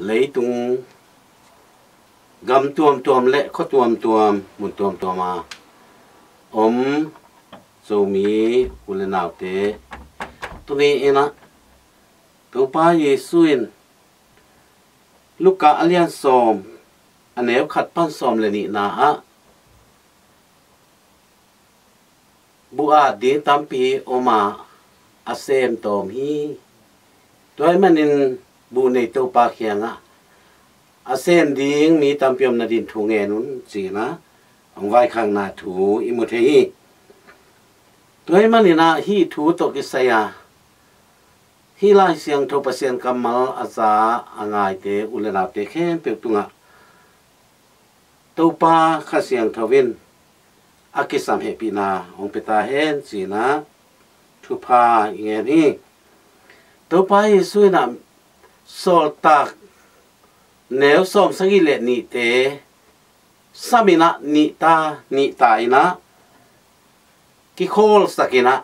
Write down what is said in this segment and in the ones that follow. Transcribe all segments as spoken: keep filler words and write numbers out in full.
Leitung gam tuamtuam le khua tuamtuam, mun tuamtuam a om Zomi u le naute, tuni in ah Topa Jesu in Luka a lian sawm, a neu khat pan sawm le nihna ah buh at ding tampi om a, a sem tawm hi. Tua ahih manin buh nei Topa kiangah a sem ding mi tampi om nadin thu ngen un, ci-in ah hong vaikhakna thu i mu thei hi. Tua ahih manin ah hih thu tawh kisai a, hih Lai Siangtho Pasian kammal a za a ngaite u le naute khempeuh tungah Topa Kha Siangtho in a kisam hehpihna hong pia ta hen, ci-in ah thupha i ngen hi. Topa Jesu in ah Sawltak neu sawm sagih le nihte sam in ah nihta nihta in ah kikhawlsak in ah,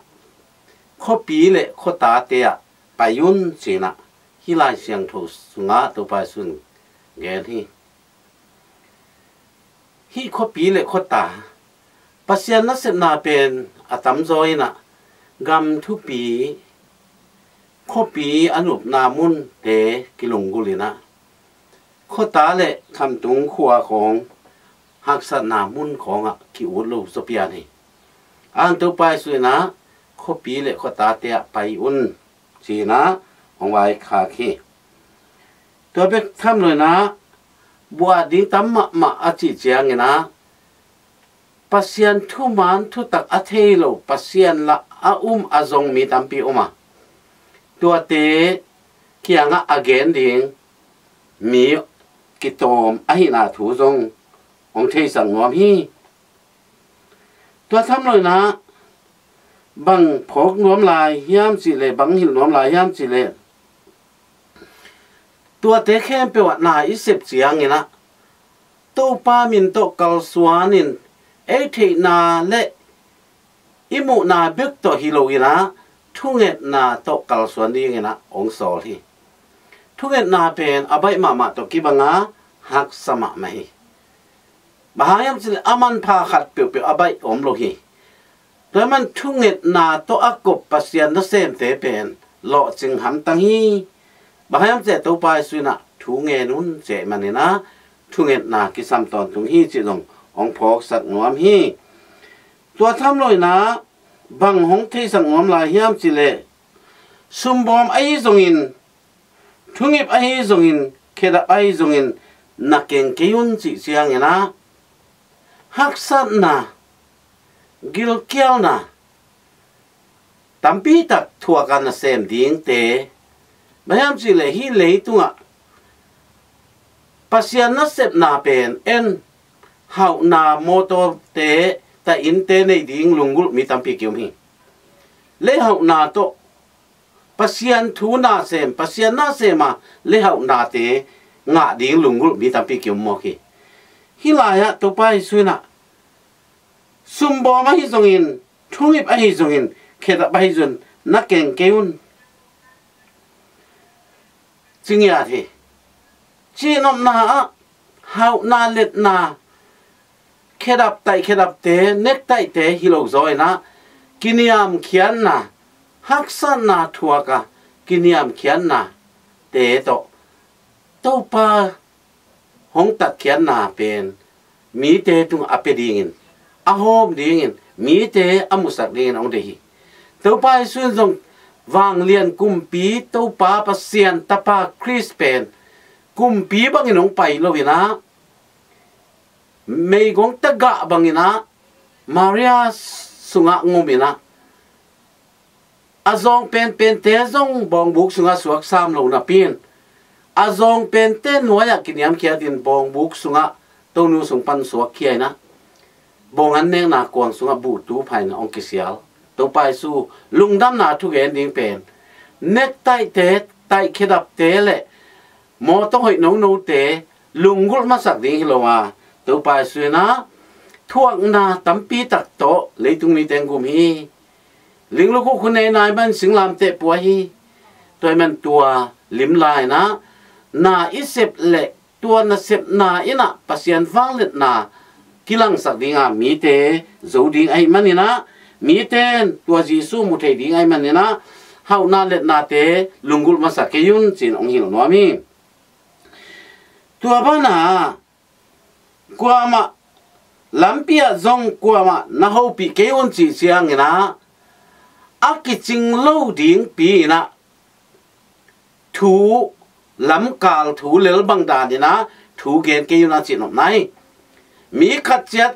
khuapi le khuatate ah pai un, ci-in ah hih Lai Siangtho sungah Topa Jesu in gen hi. Hih khuapi le khuata, Pasian nasepna pen a tamzaw in ah gam thupi, khuapi a nupna munte kilunggulh in ah, khuata le khamtung khua khawng haksatna mun khawngah ki-ut lo zaw pian hi. An Topa Jesu in ah khuapi le khuatate ah pai un, ci-in ah hong vaikhak hi. Tua bek tham lo in ah buh at ding tam mahmah a cih ciangin ah Pasian thuman thutak a thei lo, Pasian lah a um a zong mi tampi om a, tuate kiangah a gen ding mi kitawm ahihna thu zong hong theisak nuam hi. Tua tham lo in ah bang phawk nuam lai hiam cih leh, bang hilh nuam lai hiam cih leh, tuate khempeuh ah na i sep ciangin ah Topa min tawh kalsuan in ei theihna le i muhna bek tawh hi lo in ah thungetna tawh kalsuan dingin ah hong sawl hi. Thungetna pen a baih mahmah tawh kibang a, haksa mahmah hi. Bang hang hiam cih leh a manpha khat peuhpeuh a baih om lo hi. Tua ahih manin thungetna tawh a kop Pasian nasemte pen lawhcing hamtang hi. Bang hang hiam cih leh Topa Jesu in ah thu ngen un, ci ahih manin ah thungetna kisam tawntung hi cih zong hong phawksak nuam hi. Tua tham lo in ah bang hong theisak nuam lai hiam cih leh, sumbawm ahi zongin, thungip ahi zongin, khedap ahi zongin na keng kei un cih ciangin ah haksatna, gilkialna tampi tak thuak a nasem dingte, bang hiam cih leh hih leitungah Pasian nasepna pen en, hauhna, mawtawte, ta innte nei ding lunggulh mi tampi ki-om hi. Leihauhna tawh Pasian thu nasem, Pasian nasem a leihauhnate ngah ding lunggulh mi tampi ki-om mawk hi. Hih lai-ah Topa Jesu in ah sumbawm ahi zongin, thungip ahi zongin, khedap ahi zongin na keng kei un, ci ngiat hi. Cihnopna ah hauhna, letna, khedap taih khedapte, nektaihte hi lo zaw in ah kiniamkhiatna, haksatna thuak a kiniamkhiatnate tawh Topa hong tatkhiatna pen mite tungah a pia dingin, a hawm dingin, mite a musak dingin hong deih hi. Topa Jesu in zong vanglian kumpi Topa Pasian Tapa Khrist pen kumpi bangin hong pai lo in ah, meigong tagah bangin ah Maria sungah ngum in ah, a zawng penpente zong bawngbuk sungah suak sam lo napi in, a zawng pente nuai-ah kiniamkhiat in bawngbuk sungah Tonu sung pan suak khia in ah, bawng an nekna kuang sungah buhtu pha in ah hong kisial. Topa Jesu lungdamna thugen ding pen nektaihte, taih khedapte le mawtaw hoih nonote lunggulh masak ding hi lo a, Topa Jesu in ah thuakna tampi tak tawh leitung mite hong gum hi. Linglukhu khu nei nai man singlamteh pua hi. Tua ahih man tua lim lai in ah na i sep leh tua nasepna in ah Pasian vangliatna kilangsak ding a mite zo ding ahih manin ah, mite in tua Jesu mu thei ding ahih manin ah, hauhna liatnate lunggulh masa kei un ci-in hong hilh nuam hi. Tua banah kuamah, lampi ah zong kuamah na hopih kei un cih ciangin ah, a kicing lo dingpi in ah thu, lamkal thu lel bang dan in ah thu gen kei un a cihnopna hi. Mi khat ciat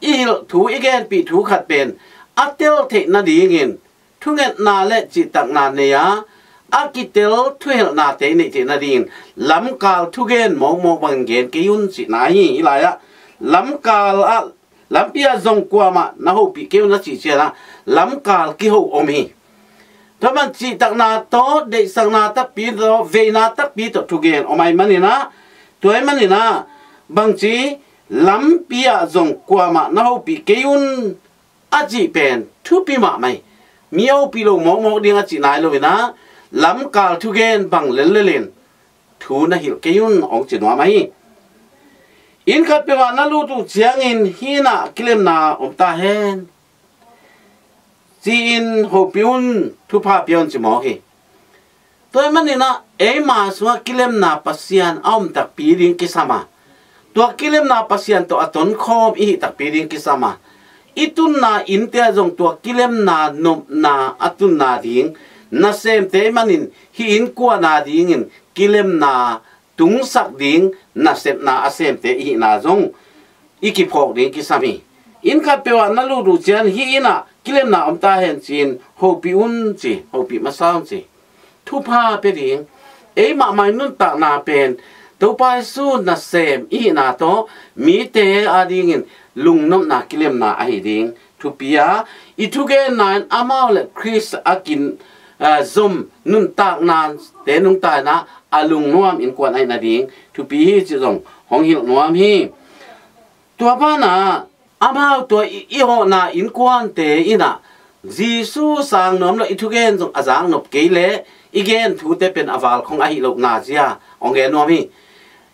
i hilh thu, i genpih thu khat pen a tel theih nadingin thungetna le cihtakna nei a, a kitel thuhilhnate i neih theih nadingin lamkal thugen mawkmawk bangin gen kei un cihna hi. Hih lai-ah lamkal ah, lampi ah zong kuamah na hopih kei un a cih ciangin ah lamkal kiho om hi. Tua man cihtakna tawh, deihsakna takpi tawh, veina takpi tawh thugen om ahih manin ah, tua ahih manin ah, bangci, lampi ah zong kuamah na hopih kei un a cih pen thupi mahmah hi. Mi a hopih lo mawkmawk ding a cih nai lo in ah, lamkal thugen bang lellel in thu na hilh kei un hong ci nuam ahi. Inn khat peuh ah na lut uh ciangin hih inn ah kilemna om ta hen ci-in hopih un, thupha pia un ci mawk hi. Tua ahih manin ah eima sungah kilemna Pasian a om takpi ding kisam a, tua kilemna Pasian tawh a tonkhawm i hih takpi ding kisam a, i tunna innte ah zong tua kilemna nopna a tunna ding nasemte ahih manin, hih innkuan a dingin kilemna tungsak ding nasepna a semte i hihna zong i kiphawk ding kisam hi. Inn khat peuh ah na lut uh ciang hih inn ah kilemna om ta hen ci-in hopih un ci, hopih masa un ci. Thupha pia ding, ei mahmah i nuntakna pen Topa Jesu nasem i hihna tawh mite a dingin lungnopna kilemna ahi ding thupi a, i thugenna in amau le Khrist a kin, a, zom nuntaknate nungta in ah a lungnuam innkuan ahih nading thupi hi cih zong hong hilh nuam hi. Tua banah amau tua i, i hawhna innkuante in ah Jesu sang nuam lo i thugen zong a zaknop kei leh i gen thute pen a valkhong ahi lohna zia hong gen nuam hi.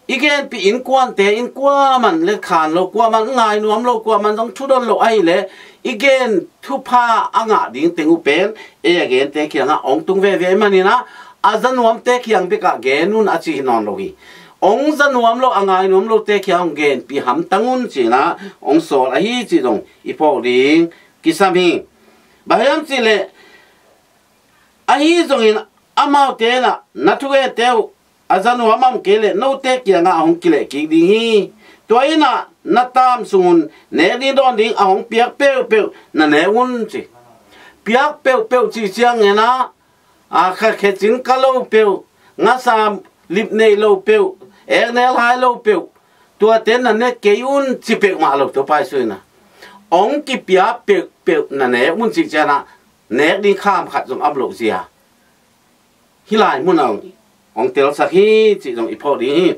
I genpih innkuante in kuaman le khan lo, kuaman ngai nuam lo, kuaman zong thudon lo ahih leh i gen thupha a ngah ding teng uh pen ei a gente kiangah hong tung veve ahih manin ah, a za nuamte kiang bekah gen un a ci hi nawn lo hi. Hong za nuam lo, a ngai nuam lote kiang hong genpih hamtang un ci-in ah hong sawl ahi cih zong i phawk ding kisam hi. Bang hiam cih leh, ahi zongin amaute in ah na thugente uh a za nuam a om kei leh note kiangah a hong kileh kik ding hi. Tua in ah na taam sung un nek ding dawn ding a hong piak peuhpeuh na nek un ci. Piak peuhpeuh cih ciangin ah, a, kha khecin ka lo peuh, ngasa lip nei lo peuh, eknel hai lo peuh, tuate na nek kei un ci peuhmah lo Topa Jesu in ah. Hong kipia peuhpeuh na nek un cih ciangin ah nek ding kham khat zong a om lo zia hih lai munah hong, hong telsak hi cih zong i phawk ding hi.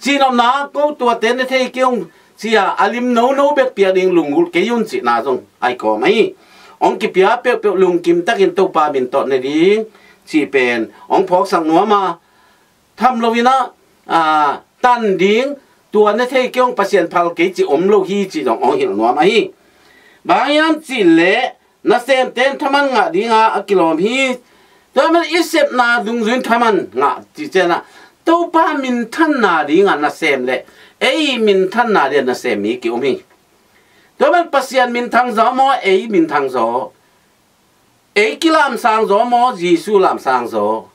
Cihnopna, ko tuate ne thei kei ung ci-a a lim nono bek piak ding lunggulh kei un cihna zong a kikawm ahi. Hong kipia peuhpeuh lungkim takin Topa min tawh ne ding cih pen hong phawksak nuam a, tham lo in ah, a, tan ding, tua ne thei kei ung, Pasian phal kei cih om lo hi cih zong hong hilh nuam ahi. Bang hiam cih leh nasemte in thaman ngah dinga a kilawm hi. Tua man i sepna dungzui in thaman ngah cih ciangin ah Topa minthanna dinga nasem le ei minthanna dinga nasem mi ki-om hi. Tua man Pasian minthang zaw maw, ei minthang zaw? Ei kilamsang zaw maw, Jesu lamsang zaw?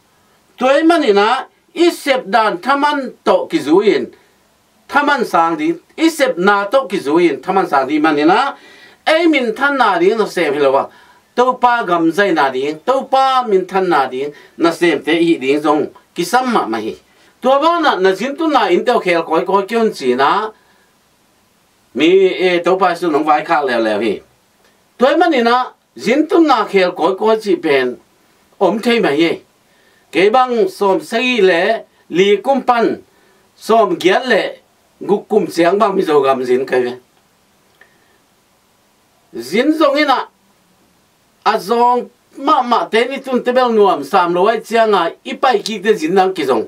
Tua ahih manin ah i sep dan thaman tawh kizui-in thaman sang ding, i sepna tawh kizui-in thaman sang ding manin ah, ei minthanna ding nasem hi lo a, Topa gam zaina ding, Topa minthanna ding nasemte i hih ding zong kisam mahmah hi. Tua banah na zin tunna innte uh khel kawikawi kei un ci-in ah mi, e, Topa Jesu in hong vaikhak leuleu hi. Tua ahih manin ah zin tunna khel kawikawi cih pen om thei mah hi. Kei bang sawm sagih le li kum pan sawm giat le guk kum ciang bang Mizo gam zin ka hi ve. Zin zong in ah, a zawng mahmahte in i tunte bel nuam sam lo ahih ciangin i paikikte zin dang kizong.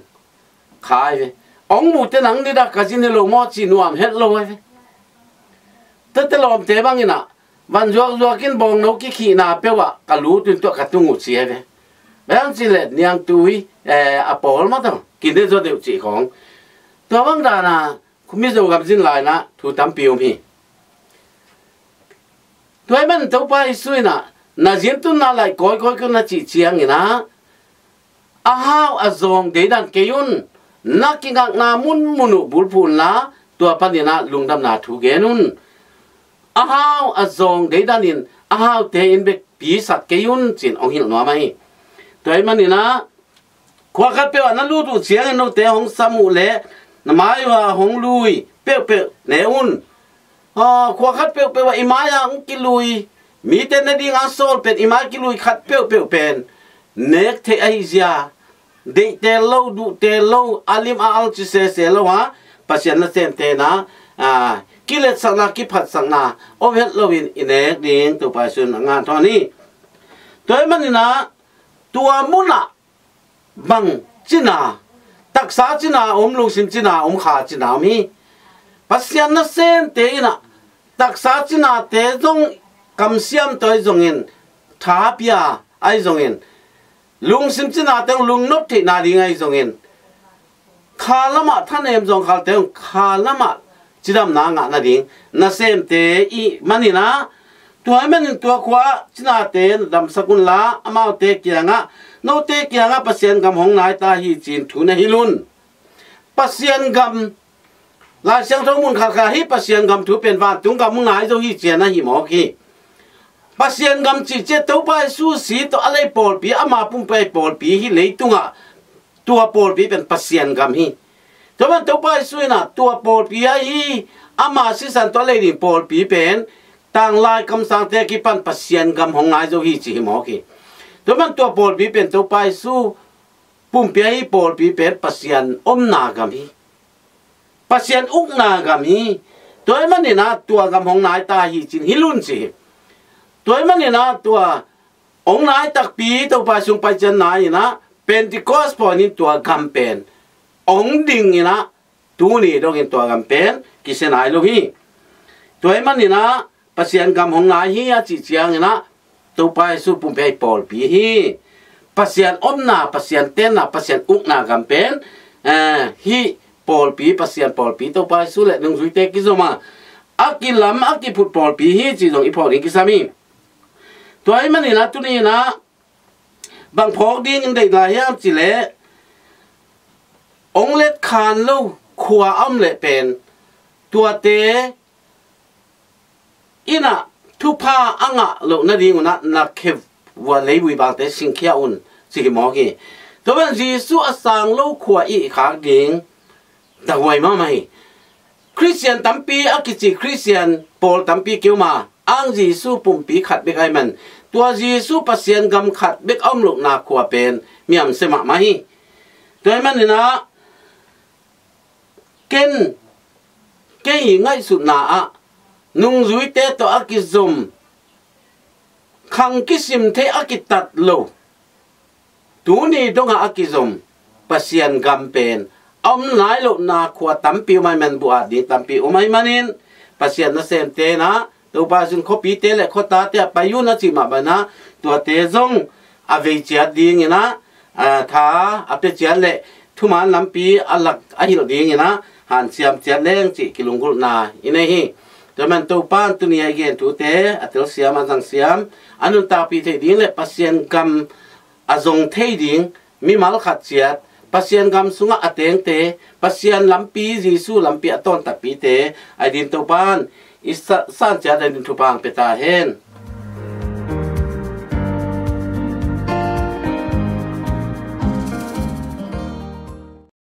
khai ve. Ong mute nang nida ka zin hi lo maw ci nuam het lo ai ve. Tete lawmte bangin ah van zuakzuak in bawngno kikhihna peuh ah ka lut un tuah ka tung uh ci ai ve. Bang ci le niangtui, eh, a pawl maw tawh kine zaw deuh cih khawng. Tua bang dana Mizo gam zin lainah thu tampi um hi. Tua ahih man Topa Jesu inah na zin tunna laih kawikawi kawin na cih cianginah a hau a zawng deidan kei un. Na kingakna munmun uh bulphuh unla tua paninah lungdamna thu gen un. A hau a zawng deidanin a haute in bek pisak kei un cin hong hilh nuam ahi. Tua ahih maninah khua khat peuh ah na lut uh ciangin note hong sam uh leh na mai uh a hong lui peuhpeuh ne un. Aw, khua khat peuhpeuh ah i mai-ah hong kilui, mite ne dinga sawl pen i mai kilui khat peuhpeuh pen nek theih ahi zia, deihtel lo, duhtel lo, a lim a al ci sese lo a, Pasian nasemte na, a, kiletsakna, kiphatsakna om het loin i nek ding Topa Jesu in a ngan thawn hi. Tua ahih maninah tua munah bang cina, taksa cina om, lungsim cina om, kha cina om hi. Pasian nasemte inah taksa cinate zong kamsiam tawh ahi zongin, tha pia ahi zongin, lungsim cinate zong lungnop theihna ding ahi zongin, kha lamah thanem zawngkhalte zong kha lamah cidamna ngah nading nasemte i hih maninah, tua ahih manin tua khua cinate na damsak unla amaute kiangah, note kiangah Pasian gam hong nai ta hi cin thu na hilh un. Pasian gam, Lai Siangtho mun khatkhat hih Pasian gam thu pen vantung gam hong nai zo hi ci-a na hih mawk hi. Pasian gam cih ciang Topa Jesu si tawh a lei pawlpi, ama pumpi a pawlpi hih leitungah tua pawlpi pen Pasian gam hi. Tua pen Topa Jesu inah tua pawlpi ahi ama sisan tawh a lei ding pawlpi pen tanglai kamsangte a kipan Pasian gam hong nai zo hi ci hi mawk hi. Tua pen tua pawlpi pen Topa Jesu pumpi ahi pawlpi pen Pasian omna gam hi. Pasian ukna gam hi. Tua ahih maninah tua gam hong nai ta hi cin hilh un ci hi. Tua ahih maninah tua hong nai takpi Topa sung pai ciang nai inah Pentecost pawi in tua gam pen hong ding inah tuni dongin tua gam pen kisia nai lo hi. Tua ahih maninah Pasian gam hong nai hi a cih cianginah Topa Jesu pumpi ahi pawlpi hi. Pasian omna, Pasian tenna, Pasian ukna gam pen, eh, hih pawlpi, Pasian pawlpi, Topa Jesu le nungzuite kizom a, a kilam, a kiphut pawlpi hi cih zong i phawk ding kisam hi. Tua ahih maninah tuni inah bang phawk dingin deih lai hiam cih leh, hong letkhan lo khua a om leh pen tuate inah thupha a ngah loh nadingunah na khe vua leivui bangte singkhia un ci hi mawk hi. Tua pen Jesu a sang lo khua i khak ding tahuai mahmah hi. Khristian tampi a kici Khristian pawl tampi kium a, ang Jesu pumpi khat bek ahih man tua Jesu Pasian gam khat bek a om lohna khua pen miamsia mahmah hi. Tua ahih maninah ken, kei ngaihsutna ah nungzuite tawh a kizom, khang kisim thei a kitat lo, tuni dongah a kizom Pasian gam pen a om nai lohna khua tampi um ahih man buh at ding tampi um ahih manin Pasian nasemte inah Topa Jesu in khuapite le khuatate ah pai un a cih mah banah tuate zong a vei ciat dinginah, a, tha a pia ciat le thuman lampi a lak a hilh dinginah hanciam ciat leng cih kilunggulhna i nei hi. Tua man Topa in tuni a i gen thute a telsiam a zangsiam a nuntakpih theih ding le Pasian gam a zong thei ding mimal khat ciat, Pasian gam sungah a tengte, Pasian lampi, Jesu lampi a tawn takpite a i din Topa in i sa-, san ciat a i din thupha hong pia ta hen.